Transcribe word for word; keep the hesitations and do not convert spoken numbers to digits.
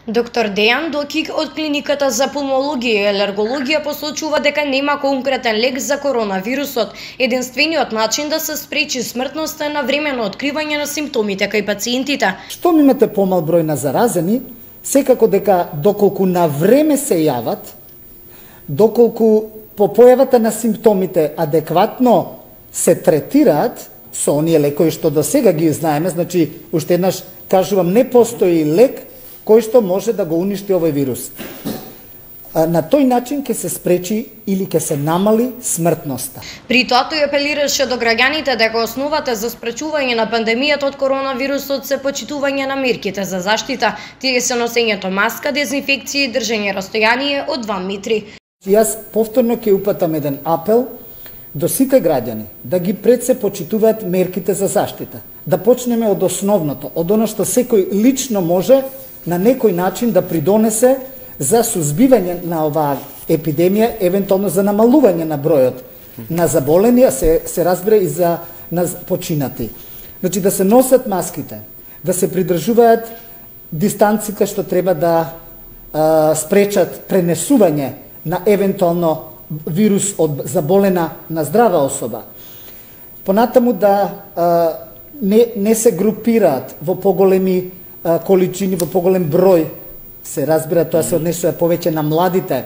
Доктор Дејан Докик од клиниката за пулмологија и алергологија посочува дека нема конкретен лек за коронавирусот. Единствениот начин да се спречи смртноста е навремено откривање на симптомите кај пациентите. Штом имате помал број на заразени, секако дека доколку на време се јават, доколку по појавата на симптомите адекватно се третираат со оние лекови што до сега ги знаеме, значи уште еднаш кажувам, не постои лек кој што може да го уништи овој вирус. На тој начин ќе се спречи или ќе се намали смртноста. При тоа тој апелираше до граѓаните дека основата за спречување на пандемијата од коронавирусот се почитување на мерките за заштита, тие се носењето маска, дезинфекција и држење растојание од два метри. Јас повторно ќе упатам еден апел до сите граѓани да ги пред се почитуваат мерките за заштита. Да почнеме од основното, од оно што секој лично може на некој начин да придонесе за сузбивање на оваа епидемија, евентуално за намалување на бројот на заболени, а се, се разбира и за на починати. Значи да се носат маските, да се придржуваат дистанците што треба да а, спречат пренесување на евентуално вирус од заболена на здрава особа. Понатаму да а, не, не се групираат во поголеми количини, во поголем број, се разбира, тоа се однесува повеќе на младите